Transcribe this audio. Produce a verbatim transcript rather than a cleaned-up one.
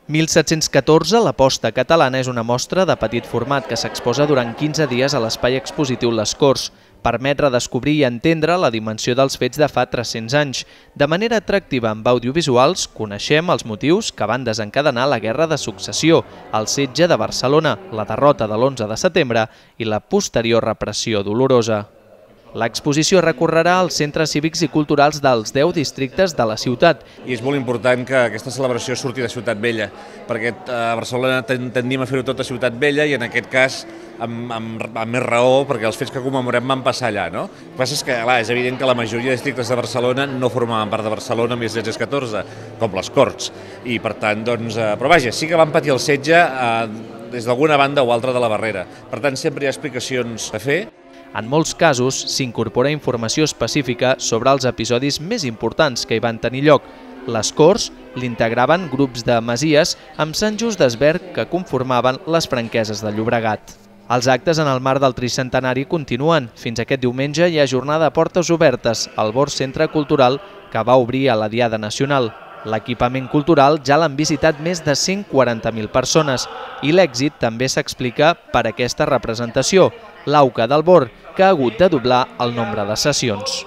mil set-cents catorze, la posta catalana és una mostra de petit format que s'exposa durant quinze dies a l'espai expositiu Les Corts. Permet redescobrir i entendre la dimensió dels fets de fa tres-cents anys. De manera atractiva amb audiovisuals, coneixem els motius que van desencadenar la Guerra de Successió, el setge de Barcelona, la derrota de l'onze de setembre i la posterior repressió dolorosa. L'exposició recorrerà als centres cívics i culturals dels deu districtes de la ciutat. I és molt important que aquesta celebració surti de Ciutat Vella, perquè a Barcelona tendim a fer-ho tot a Ciutat Vella i en aquest cas amb, amb, amb més raó, perquè els fets que commemorem van passar allà. No? El que passa és que clar, és evident que la majoria de districtes de Barcelona no formaven part de Barcelona en mil set-cents catorze, com les Corts. I per tant, doncs, eh, però vaja, sí que van patir el setge eh, des d'alguna banda o altra de la barrera. Per tant, sempre hi ha explicacions a fer. En molts casos, s'incorpora informació específica sobre els episodis més importants que hi van tenir lloc. Les Corts l'integraven grups de masies amb Sant Just Desvern que conformaven les franqueses de Llobregat. Els actes en el marc del tricentenari continuen. Fins aquest diumenge hi ha jornada a portes obertes al Bord Centre Cultural que va obrir a la Diada Nacional. L'equipament cultural ja l'han visitat més de cent quaranta mil persones i l'èxit també s'explica per aquesta representació, l'Auca del Bord, que ha hagut de doblar el nombre de sessions.